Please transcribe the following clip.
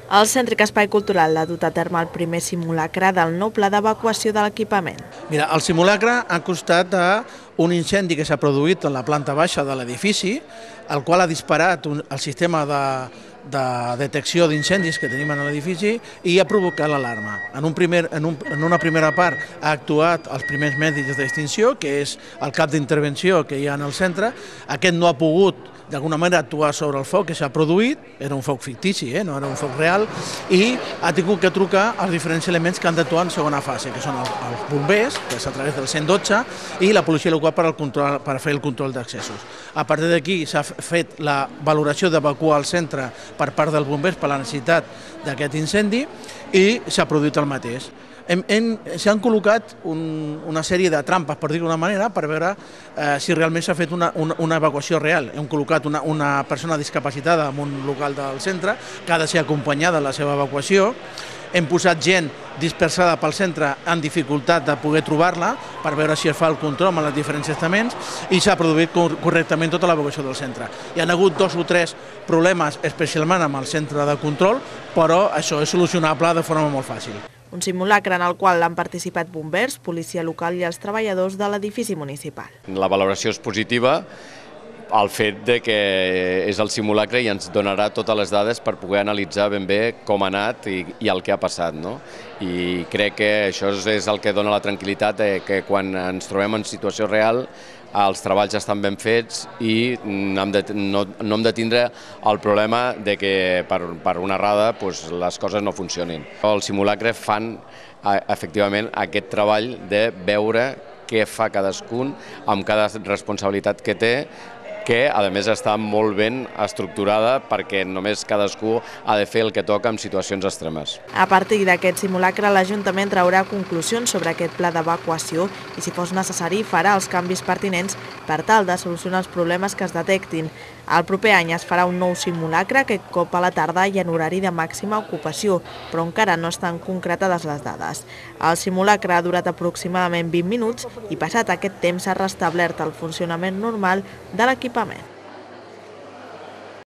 El Cèntric Espai Cultural ha dut a terme el primer simulacre del nou pla d'evacuació de l'equipament. Mira, el simulacre ha costat un incendi que s'ha produït en la planta baixa de l'edifici, el qual ha disparat el sistema de detecció d'incendis que tenim en l'edifici i ha provocat l'alarma. En una primera part ha actuat els primers mèdics d'extinció, que és el cap d'intervenció que hi ha en el centre. Aquest no ha pogut d'alguna manera actuar sobre el foc que s'ha produït, era un foc fictici, no era un foc real, i ha tingut que trucar als diferents elements que han d'actuar en segona fase, que són els bombers, que és a través del 112, i la policia local per fer el control d'accessos. A partir d'aquí s'ha fet la valoració d'evacuar el centre per part dels bombers per la necessitat d'aquest incendi i s'ha produït el mateix. S'han col·locat una sèrie de trampes, per dir-ho d'una manera, per veure si realment s'ha fet una evacuació real. Hem col·locat una persona discapacitada en un local del centre que ha de ser acompanyada en la seva evacuació. Hem posat gent dispersada pel centre en dificultat de poder trobar-la per veure si es fa el control amb els diferents estaments i s'ha produït correctament tota l'evacuació del centre. Hi ha hagut 2 o 3 problemes, especialment amb el centre de control, però això és solucionable de forma molt fàcil. Un simulacre en el qual han participat bombers, policia local i els treballadors de l'edifici municipal. La valoració és positiva, el fet de que és el simulacre i ens donarà totes les dades per poder analitzar ben bé com ha anat i el que ha passat. I crec que això és el que dona la tranquil·litat que quan ens trobem en situació real els treballs estan ben fets i no hem de tindre el problema de que per una errada les coses no funcionin. Els simulacres fan efectivament aquest treball de veure què fa cadascun amb cada responsabilitat que té, que a més està molt ben estructurada perquè només cadascú ha de fer el que toca en situacions extremes. A partir d'aquest simulacre, l'Ajuntament traurà conclusions sobre aquest pla d'evacuació i, si fos necessari, farà els canvis pertinents per tal de solucionar els problemes que es detectin. El proper any es farà un nou simulacre, aquest cop a la tarda i en horari de màxima ocupació, però encara no estan concretades les dades. El simulacre ha durat aproximadament 20 minuts i, passat aquest temps, s'ha restablert el funcionament normal de l'equipament.